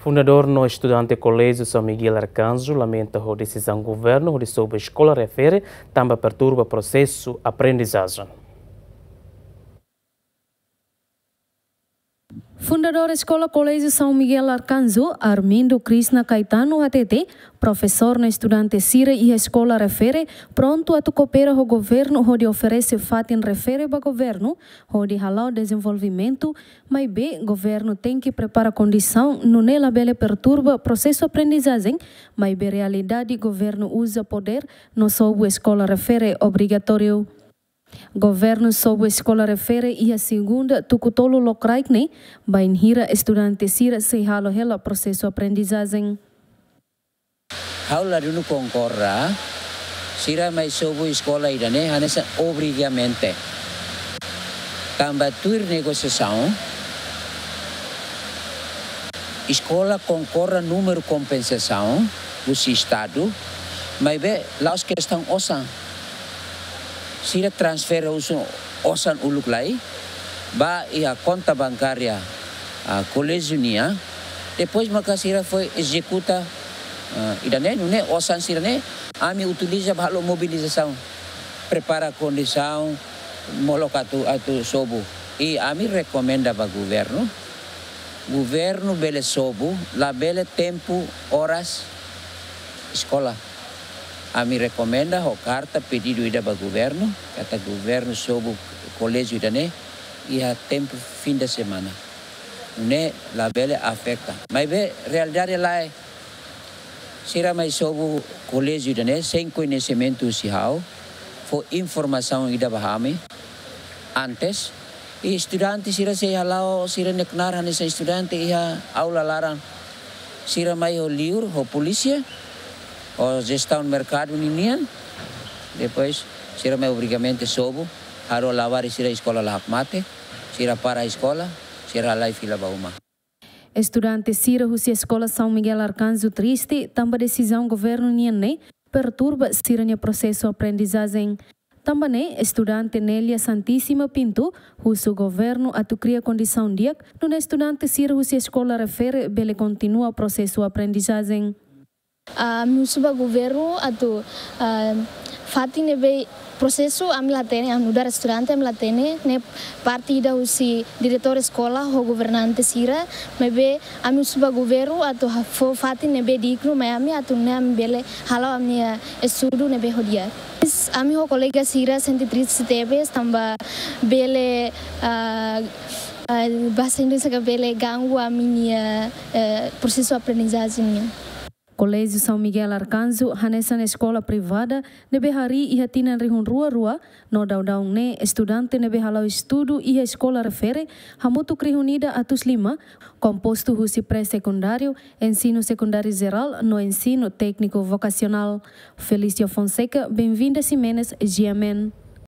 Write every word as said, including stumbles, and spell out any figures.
Fundadór no estudante Koléjiu São Miguel Arcanjo lamenta ho desizaun governu hodi sobu eskola refere tanba perturba prosesu aprendizajen. Fundadór Eskola Koléjiu São Miguel Arcanjo, Armindo Krishna Caetano, hatete, profesór no estudante sira iha eskola refere prontu atu koopera ho governu hodi oferese fatin refere ba governu hodi hala'o dezenvolvimentu, maibé governu tenke prepara kondisaun nune'e labele perturba prosesu aprendizajen, maibé realidade governu uza podér no sobu eskola refere obrigatóriu. Governu sobu eskola refere iha segunda tuku tolu lokraik ne'e, bainhira estudante sira sei halo hela prosesu aprendizajen. Ha'u ladún konkorda, sira mai sobu eskola ida-ne'e hanesan obrigatoriamente. Tanba tuir negosiasaun, eskola konkorda númeru kompensasaun husi Estadu, maibé la'ós kestaun osan. Sira transfere husi osan uluk lai ba iha konta bankária, ah, koléjiu nian. Depois maka sira foin ezekuta, ah, ida-ne'e, nune'e osan sira-ne'e ami utiliza ba halo mobilizasaun, prepara kondisaun, molok atu, atu sobu. I ami rekomenda ba governu, governu bele sobu, labele tempu oras eskola. Ami rekomenda ho karta pedidu ida ba governu, katak governu sobu koléjiu ida-ne'e iha tempu fim de semana. Nune'e labele afeta. Maibé realidade lae, sira mai sobu koléjiu ida-ne'e sein koñesimentu husi ha'u, fó informasaun ida ba ami antes. I estudante sira sei hala'o sira-nia knaar hanesan estudante iha aula laran. Sira mai ho liur, ho polísia, ho jestaun merkadu ninian. Depois sira mai obrigatoriamente sobu, halo labarik sira eskola la hakmatek, sira para eskola, sira halai fila ba uma. Estudante sira husi Eskola São Miguel Arcanjo triste tanba desizaun governu nian ne'e perturba sira-nia prosesu aprendizajen. Tanba ne'e, estudante Nélia Santíssima Pinto husu governu atu kria kondisaun di'ak, nune'e estudante sira husi eskola refere bele kontinua prosesu aprendizajen. Ah, ami husu ba governu atu, ah, fatin ne'ebé prosesu ami la hatene, ami nu'udar estudante ami la hatene, ne'e parte ida husi diretór eskola ho governante sira, maibé ami husu ba governu atu ha-, fó fatin ne'ebé dignu mai ami atu nune'e ami bele hala'o ami-nia estudu ne'ebé ho di'ak. Ami ho kolega sira sente triste tebes tanba bele, ah, ah, bahasa Indonesia ka bele ganggu ami-nia, eh, prosesu aprendizajen nian. Koléjiu São Miguel Arcanjo hanesan eskola privada ne'ebé harii iha tinan rihun rua rua, no daudaun ne'e estudante ne'ebé hala'o estudu iha eskola refere hamutuk rihun ida atus lima, kompostu husi pré-sekundáriu, ensinu sekundáriu jerál no ensinu tékniku vokasionál. Felício Fonseca, Benvinda Ximenes, G M N.